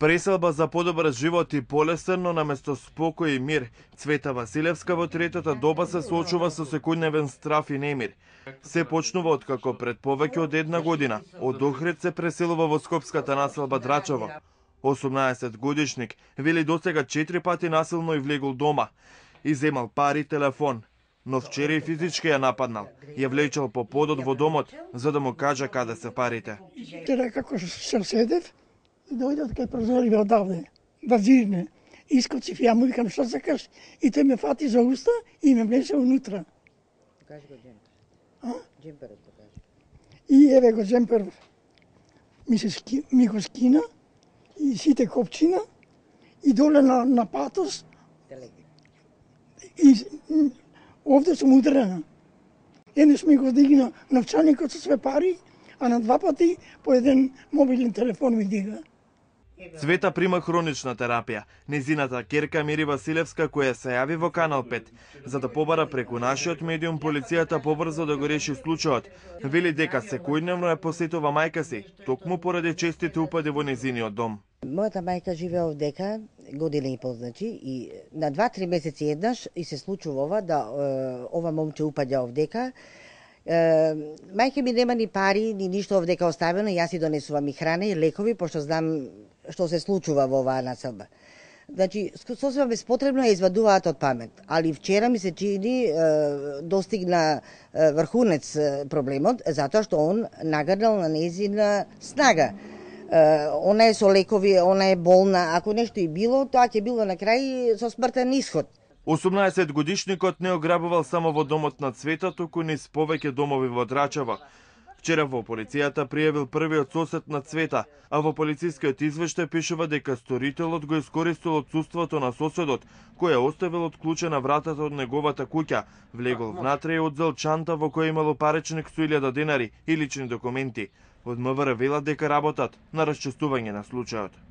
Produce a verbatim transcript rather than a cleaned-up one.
Преселба за подобар живот и полесен, но наместо спокој и мир, Цвета Василевска во третата доба се соочува со секојдневен страф и немир. Се почнува откако пред повеќе од една година од Охрид се преселува во скопската населба Драчево. осумнаесет годишник вели досега четири пати насилно и влегол дома, иземал пари, телефон, но вчера и физички ја нападнал. Ја влечел по подот во домот за да му каже каде се парите. Вчера како се седев, дојде од кај прозориве одавде, да зирне. Искоцив, ја му викам што сакаш, и тој ме фати за уста и ме влесе унутра. Покажи го джемпер. А? Джемперот покажи. И еве го джемпер ми, се ски, ми го скина, и сите копчина, и доле на, на патос, и овде сум удрена. Еднаш ми го дигна новчаникот со све пари, а на два пати по еден мобилен телефон ми дига. Цвета прима хронична терапија. Незината ќерка Мири Василевска, која се јави во Канал пет, за да побара преку нашиот медиум полицијата побрзо да го реши случајот, вели дека секојдневно ја посетува мајка си, токму поради честите упади во незиниот дом. Мојата мајка живее овдека година и пол, значи, и на два-три месеци еднаш и се случува ова да е, ова момче упаѓа овдека. Е, мајка ми нема ни пари, ни ништо овдека оставено, јас си донесувам и храна и лекови, пошто знам што се случува во оваа населба. Значи, сосема безпотребно ја извадуваат од памет, али вчера ми се чини е, достигна е, врхунец е, проблемот, затоа што он нагрнал на незина снага. Uh, она е со лекови, она е болна, ако нешто и било, тоа ќе било на крај со смртен исход. осумнаесет годишникот не ограбувал само во домот на Цвета, туку низ повеќе домови во Драчево. Вчера во полицијата пријавил првиот сосед на Цвета, а во полицискиот извештај пишува дека сторителот го искористил отсуството на соседот, кој ја оставил отклучена вратата од неговата куќа, влегол внатре и одзел чанта во која имало паричник со илјада денари и лични документи. Од МВР велат дека работат на расчистување на случајот.